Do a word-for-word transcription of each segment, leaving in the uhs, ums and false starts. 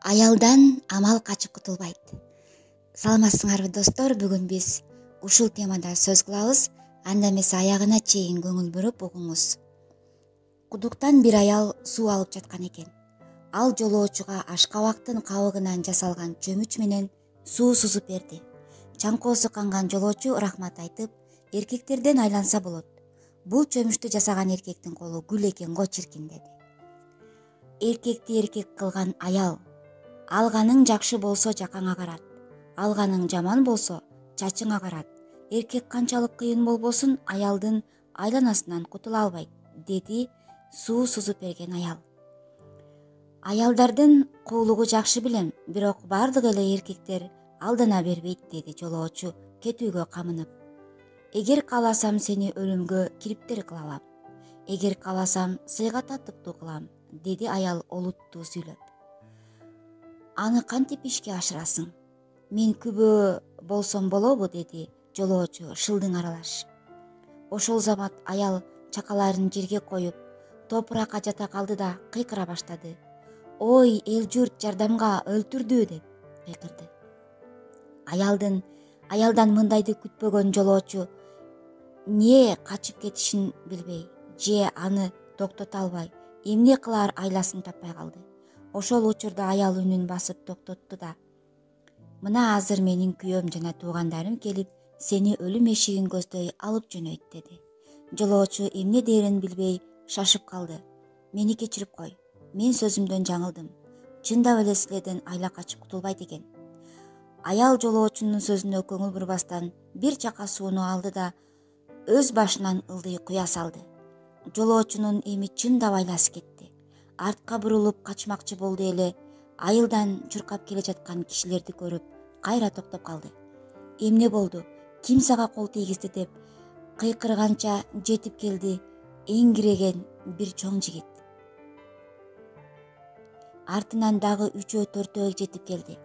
Аялдан амал качып кутулбайт. Саламатсыңарбы достор, бүгүн биз ушул темада сөз кылабыз. Анда эмесе аягына чейин көңүл буруп угуңуз. Кудуктан бир аял суу алып жаткан экен. Ал жолоочуга ашкабактын кабыгынан жасалган чөмүч менен суу сузуп берди. Чаңкоосу канган жолоочу рахмат айтып, эркектерден айланса болот. Бул чөмүчтү жасаган эркектин колу гүл экен го чиркин деди. Эркекти эркек кылган аял. Алганың жакшы болсо жакаңа карат, алганың жаман болсо чачыңа карат. Эркек канчалык кыйын болбосун, аялдын айланасынан кутула албайт, деди суу сузуп берген аял. Аялдардын куулугу жакшы билем, бирок бардык эле эркектер алдана бербейт, деди жолоочу кетүүгө камынып. Эгер кааласам сени өлүмгө кириптер кыла алам. Эгер кааласам сыйга татыктуу кылам, деди аял олуттуу сүйлөп. Аны кантип ишке ашырасың? Мен күбө болсом болобу, деди жолоочу шылдың аралаш. Ошол замат аял чакаларын жерге коюп, топуракка жата калды да кыйкыра баштады. Ой, эл журт жардамга, өлтүрдү, деп кыйкырды. Аялдын аялдан мындайды күтпөгөн жолоочу не качып кетишин билбей, же аны токтото албай, эмне кылаар айласын таппай калды. Ошол учурда аял үнүн басып токтотту да: мына азыр менин күйөөм жана туугандарым келип, сени өлүм эшигин көздөй алып жөнөйт, деди. Жолоочу эмне дээрин билбей шашып калды. Мени кечирип кой, мен сөзүмдөн жаңылдым. Чындап эле силерден айла качып кутулбайт экен. Аял жолоочунун сөзүнө көңүл бурбастан бир чака сууну алды да өз башынан ылдый куя салды. Жолоочунун эми чындап айласы кетти. Артка бурулуп качмакчы болду эле айылдан чуркап келе жаткан кишилерди көрүп, кайра токтоп калды. Эмне болду? Ким сага кол тийгизди, деп кыйкырганча жетип келди эңиреген бир чоң жигит. Артынан дагы үчөө төртөө жетип келди.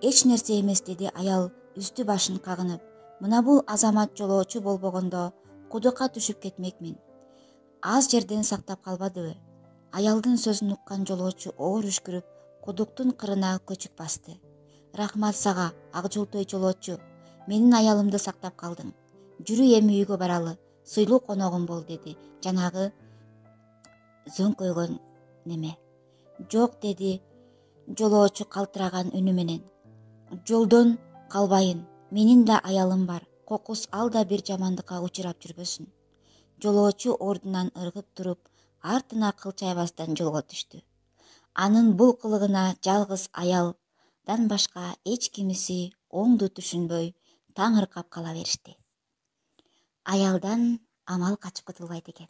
Эч нерсе эмес, деди аял үстү башын кагынып. Мына бул азамат жолоочу болбогондо кудукка түшүп кетмекмин. Аз жерден сактап калбадыбы? Аялдын сөзүн уккан жолоочу оор үшкүрүп, кудуктун кырына көчүк басты. Рахмат сага, ак жолтой жолоочу. Менин аялымды сактап калдың. Жүрү эми үйгө баралы, сыйлуу коногум бол, деди жанагы зөңкөйгөн неме. Жок, деди жолоочу калтыраган үнү менен. Жолдон калбайын, менин да аялым бар. Кокус ал да бир жамандыкка учурап жүрбөсүн. Жолоочу ордунан ыргып туруп, артына кылчайбастан жолго түштү. Анын бул кылыгына жалгыз аялдан башка эч кимиси оңду түшүнбөй, таңыркап кала беришти. Аялдан амал качып кутулбайт экен.